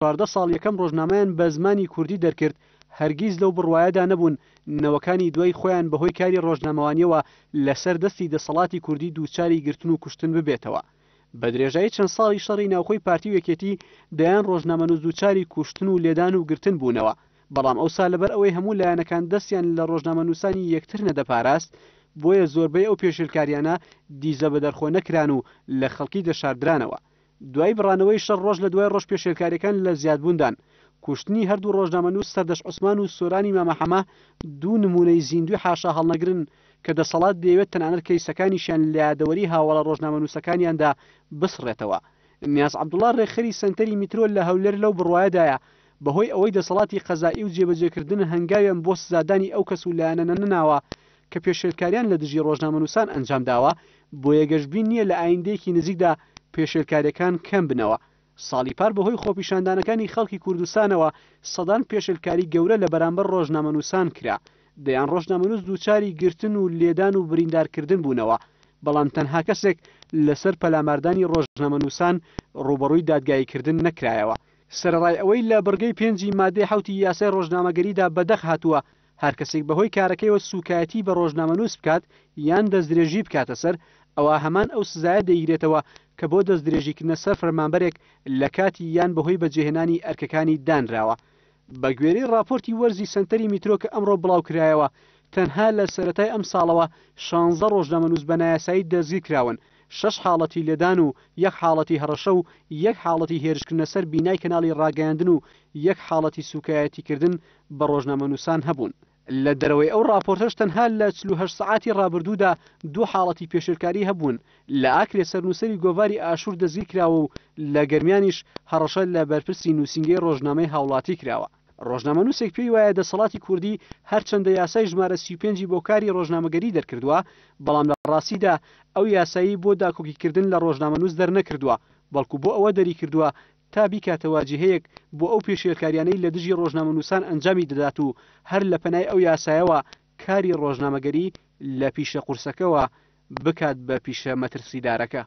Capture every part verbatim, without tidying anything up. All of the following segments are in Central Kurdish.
چواردە ساڵ یەکەم ڕۆژنامەیان بە زمانی کوردی دەرکرد، هەرگیز لەو بڕوایەدا نەبوون نەوەکانی دوای خۆیان بەهۆی کاری ڕۆژنامەوانیەوە لەسەر دەستی دەسەڵاتی کوردی دووچاری گرتن و کوشتن ببێتەوە. بە درێژایی چەند ساڵی شەڕی ناوخۆی پارتی و یەکێتی دەیان ڕۆژنامەنووس دووچاری کوشتن و لێدان و گرتن بوونەوە، بەڵام ئەوسا لەبەر ئەوەی هەموو لایەنەکان دەستیان لە ڕۆژنامەنووسانی یەکتر نەدەپاراست، بۆیە زۆربەی ئەو پێشێلکاریانە دیزە بەدەرخۆ نەکران و لە خەڵکی دەشاردرانەوە. دوای بڕانەوەی شەڕ ڕۆژ لە دوای ڕۆژ پێشێلکاریەکان لە زیادبووندان. کوشتنی هەردوو ڕۆژنامەنووس سەردەشت عوسمان و سۆرانی مامە حەمە دوو نموونەی زیندووی حاشا هەڵنەگرن کە دەسەڵات دەیەوێت تەنانەت کەیسەکانیشیان لە یادەوەری هاوەڵە ڕۆژنامەنووسەکانیاندا بسڕێتەوە. نیاز عەبدوڵا ڕێکخەری سەنتەری میترۆ لە هەولێر لەو بڕوایەدایە بەهۆی ئەوەی دەسەڵاتی قەزائی و جێبەجێکردن هەنگاویان بۆ سزادانی ئەو کەس و لایەنە نەناوە کە پێشێلکاریان لە دژی ڕۆژنامەنووسان ئەنجامداوە، بۆیە گەشبین نییە لە ئایندەیەکی نزیکدا پێشێلکاریەکان کەم بنەوە. ساڵی پار بەهۆی خۆپیشاندانەکانی خەڵکی کوردستانەوە سەدان پێشێلکاری گەورە لە بەرامبەر ڕۆژنامەنووسان کرا. دەیان ڕۆژنامەنووس دووچاری گرتن و لێدان و بریندارکردن بوونەوە، بەڵام تەنها کەسێک لەسەر پەلاماردانی ڕۆژنامەنووسان ڕووبەڕووی دادگاییکردن نەکرایەوە. سەرەڕای ئەوەی لە بڕگەی پێنجی مادەی حەوتی یاسای ڕۆژنامەگەریدا بەدەق هاتووە هەر کەسێک بەهۆی کارەکەیەوە سوکایەتی بە ڕۆژنامەنووس بکات یان دەستدرێژی بکاتە سەر، ئەوە هەمان ئەو سزایە دەیگرێتەوە کە بۆ دەستدرێژیکردنە سەر فەرمانبەرێک لە کاتی یان بەهۆی بەجێهێنانی ئەرکەکانی دانراوە. بە گوێرەی ڕاپۆرتی وەرزی سەنتەری میترۆ کە ئەمڕۆ بڵاوکرایەوە، تەنها لە سەرەتای ئەمساڵەوە شانزە ڕۆژنامەنووس بە نایاسایی دەستگیرکراون، شەش حاڵەتی لێدان و یەک حاڵەتی هەڕەشە و یەک حاڵەتی هێرشکردنە سەر بینای کەناڵی ڕاگەیاندن و یەک حاڵەتی سوکایەتیکردن بە ڕۆژنامەنووسان هەبوون. لە دەرەوەی ئەو ڕاپۆرتەش تەنها لە چل و هەشت سەعاتی ڕابردوودا دوو حاڵەتی پێشێلکاری هەبوون، لە ئاکرێ سەرنووسەری گۆڤاری ئاشوور دەستگیرکراوە و لە گەرمیانیش هەڕەشە لە بەرپرسی نووسینگەی ڕۆژنامەی هاوڵاتی کراوە. ڕۆژنامەنووسێک پێی وایە دەسەڵاتی کوردی هەرچەندە یاسای ژمارە سی و پێنجی بۆ کاری ڕۆژنامەگەری دەرکردووە، بەڵام لە ڕاستیدا ئەو یاسایی بۆ داکۆکیکردن لە ڕۆژنامەنووس دەرنەکردووە، بەڵکو بۆ ئەوە دەریکردووە تا بیکاتە واجهەیەک بۆ ئەو پێشێلکاریانەی لە دژی ڕۆژنامەنووسان ئەنجامی دەدات و هەر لە پەنای ئەو یاسایەوە کاری ڕۆژنامەگەری لە پیشە قورسەکەوە بکات بە پیشە مەترسیدارەکە.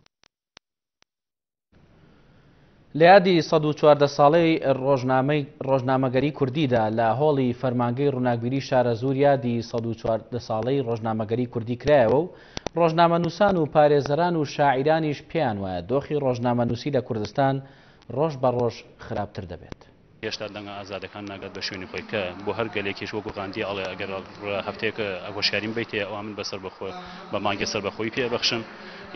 لە یادی سەد و چواردە ساڵەی ڕۆژنامەی ڕۆژنامەگەری کوردیدا لە هۆڵی فەرمانگەی ڕووناکبیری شارەزوور یادی سەد و چواردە ساڵەی ڕۆژنامەگەری کوردی کرایەوە و ڕۆژنامەنووسان و پارێزەران و شاعیرانیش پێیان وایە دۆخی ڕۆژنامەنووسی لە کوردستان ڕۆژ بە ڕۆژ خراپتر دەبێت. هێشتا دەنگە ئازادەکان ناگات بە شوێنی خۆی کە بۆ هەر گەلێکیش وەکو غاندی ئەڵێ ئەگەر هەفتەیەک هۆشیاریم بیتێ ئەوە من بەسەر بەخۆ بە مانگێ سەربەخۆی پێ بەخشم.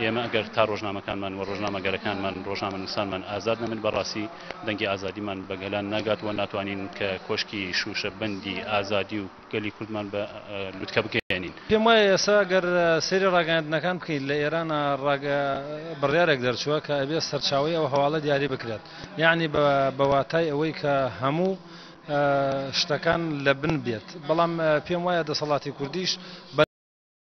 ئێمە ئەگەر تا ڕۆژنامەکانمان و ڕۆژنامەگەرەکانمان ڕۆژنامەنووسانمان ئازاد نەبن بەڕاستی دەنگی ئازادیمان بە گەلان ناگات و ناتوانین کە کۆشکی شوشە بەندی ئازادی و گەلی کوردمان بە لوتکە بگەیەنین. پێم وایە ئێستا ئەگەر سەیری ڕاگەیاندنەکان بکەیت لە ئێران بڕیارێک دەرچووە کە ئەبێ سەرچاوەی ئەو هەواڵە دیاری بکرێت، یعنی بە واتای ئەوەی کە هەموو شتەکان لە بن بێت. بەڵام پێم وایە دەسەڵاتی کوردیش بە